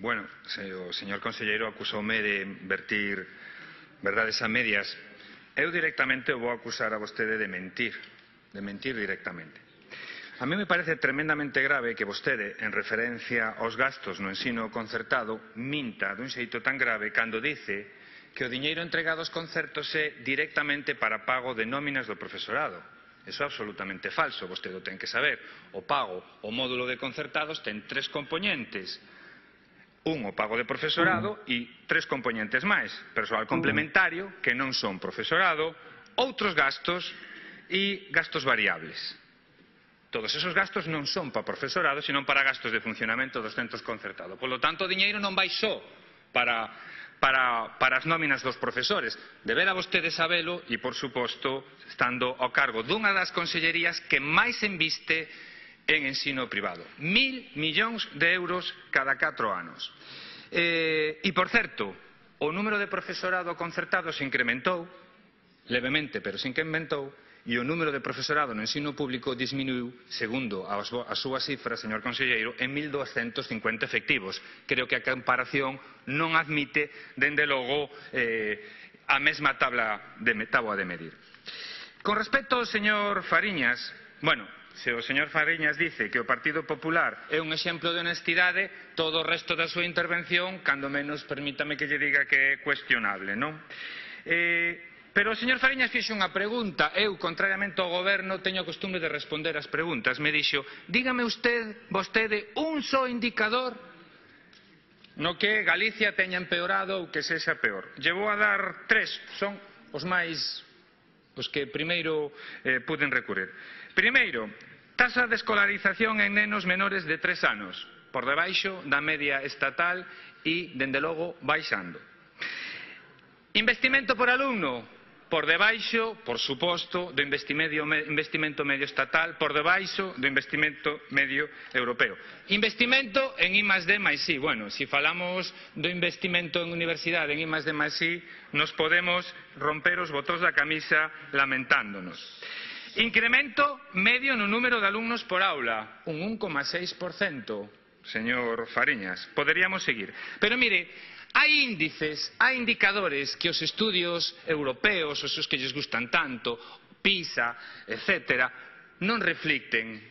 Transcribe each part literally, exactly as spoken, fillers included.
Bueno, o señor conselleiro acusoume de vertir verdades a medias. Eu directamente o vou acusar a vostede de mentir, de mentir directamente. A mí me parece tremendamente grave que vostede, en referencia aos gastos no ensino concertado, minta dun xeito tan grave cando dice que o diñeiro entregado aos concertos é directamente para pago de nóminas do profesorado. Eso é absolutamente falso, vostede o ten que saber. O pago, o módulo de concertados ten tres componentes. Un, o pago de profesorado e tres componentes máis. Persoal complementario, que non son profesorado, outros gastos e gastos variables. Todos esos gastos non son para profesorado, sino para gastos de funcionamento dos centros concertados. Por lo tanto, o diñeiro non vai só para, para, para as nóminas dos profesores. Debera vostede sabelo e, por suposto, estando ao cargo dunha das consellerías que máis enviste en ensino privado. Mil millóns de euros cada catro anos. Eh, e, por certo, o número de profesorado concertado se incrementou, levemente, pero se incrementou, e o número de profesorado no ensino público disminuiu, segundo as, as súas cifras, señor conselleiro, en mil doscientos cincuenta efectivos. Creo que a comparación non admite, dende logo, eh, a mesma tabla de, táboa de medir. Con respecto ao señor Fariñas, bueno, se o señor Fariñas dice que o Partido Popular é un exemplo de honestidade, todo o resto da súa intervención, cando menos, permítame que lle diga que é cuestionable, non? Eh, pero o señor Fariñas fixo unha pregunta. Eu, contrariamente ao goberno, teño a costume de responder as preguntas. Me dixo, dígame usted, vostede, un só indicador no que Galicia teña empeorado ou que sexa peor. Llevou a dar tres, son os máis, os que primeiro eh, puden recurrir. Primeiro, taxa de escolarización en nenos menores de tres anos, por debaixo da media estatal e, dende logo, baixando. Investimento por alumno, por debaixo, por suposto, do investimento medio estatal, por debaixo do investimento medio europeo. Investimento en I más D máis I. Bueno, se falamos do investimento en universidade en I más D máis I, nos podemos romper os botóns da camisa lamentándonos. Incremento medio no número de alumnos por aula, un un coma seis por cento, señor Fariñas. Poderíamos seguir. Pero mire, hai índices, hai indicadores que os estudios europeos, os que lles gustan tanto, PISA, etcétera, non reflicten.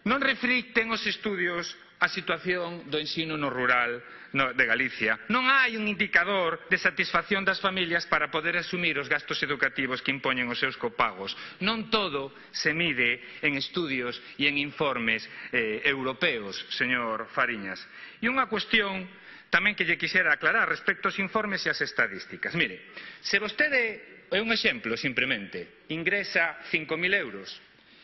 Non reflicten os estudios a situación do ensino no rural de Galicia. Non hai un indicador de satisfacción das familias para poder asumir os gastos educativos que impoñen os seus copagos. Non todo se mide en estudios e en informes eh, europeos, señor Fariñas. E unha cuestión tamén que lle quixera aclarar respecto aos informes e as estadísticas. Mire, se vostede, é un exemplo simplemente, ingresa cinco mil euros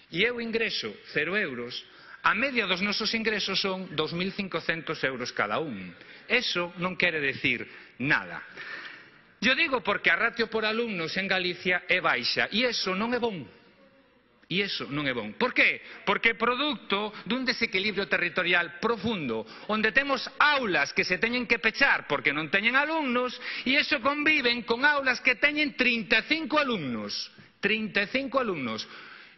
e eu ingreso cero euros, a media dos nosos ingresos son dos mil cincocentos euros cada un. Eso non quere decir nada. Yo digo porque a ratio por alumnos en Galicia é baixa e eso non é bon. E iso non é bon. Por qué? Porque é produto dun desequilibrio territorial profundo, onde temos aulas que se teñen que pechar porque non teñen alumnos e iso conviven con aulas que teñen trinta e cinco alumnos. trinta e cinco alumnos.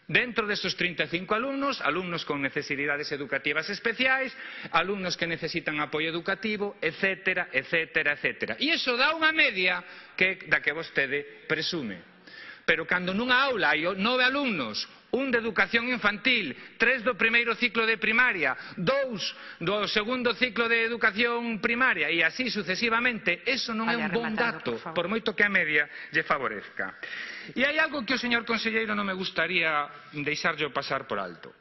Dentro desos trinta e cinco alumnos, alumnos con necesidades educativas especiais, alumnos que necesitan apoio educativo, etcétera, etcétera, etcétera. E iso dá unha media que, da que vostede presume. Pero cando nunha aula hai nove alumnos, un de educación infantil, tres do primeiro ciclo de primaria, dous do segundo ciclo de educación primaria e así sucesivamente, eso non é un bon dato, por moito que a media lle favorezca. E hai algo que o señor conselleiro non me gustaría deixarlle pasar por alto.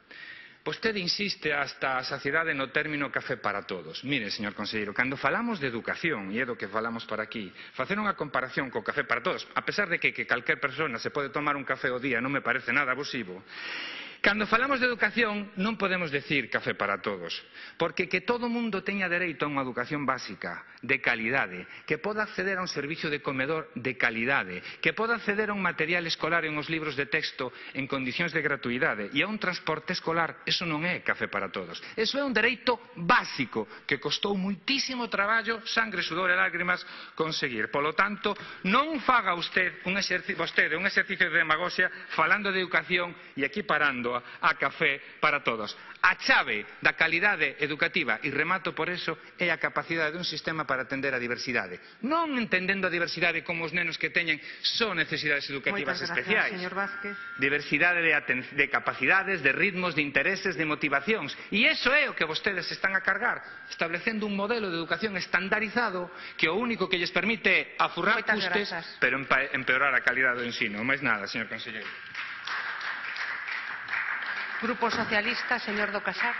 Vostede insiste hasta a saciedade no término café para todos. Mire, señor conselleiro, cando falamos de educación, e é do que falamos para aquí, facer unha comparación co café para todos, a pesar de que, que calquer persona se pode tomar un café ao día, non me parece nada abusivo. Cando falamos de educación non podemos decir café para todos, porque que todo mundo teña dereito a unha educación básica, de calidade, que poda acceder a un servicio de comedor de calidade, que poda acceder a un material escolar en os libros de texto en condicións de gratuidade e a un transporte escolar, eso non é café para todos. Eso é un dereito básico que costou moitísimo traballo, sangre, sudor e lágrimas conseguir. Polo tanto, non faga usted un exercicio, vostede un exercicio de demagoxia falando de educación e equiparando auga, a café para todos. A chave da calidade educativa, e remato por eso, é a capacidade dun sistema para atender a diversidade. Non entendendo a diversidade como os nenos que teñen só necesidades educativas especiais. Diversidade de, de capacidades, de ritmos, de intereses, de motivacións. E iso é o que vostedes están a cargar, establecendo un modelo de educación estandarizado que o único que lles permite é afurrar custes, pero empeorar a calidade do ensino. Máis nada, señor conselleiro. Grupo Socialista, señor do Casar.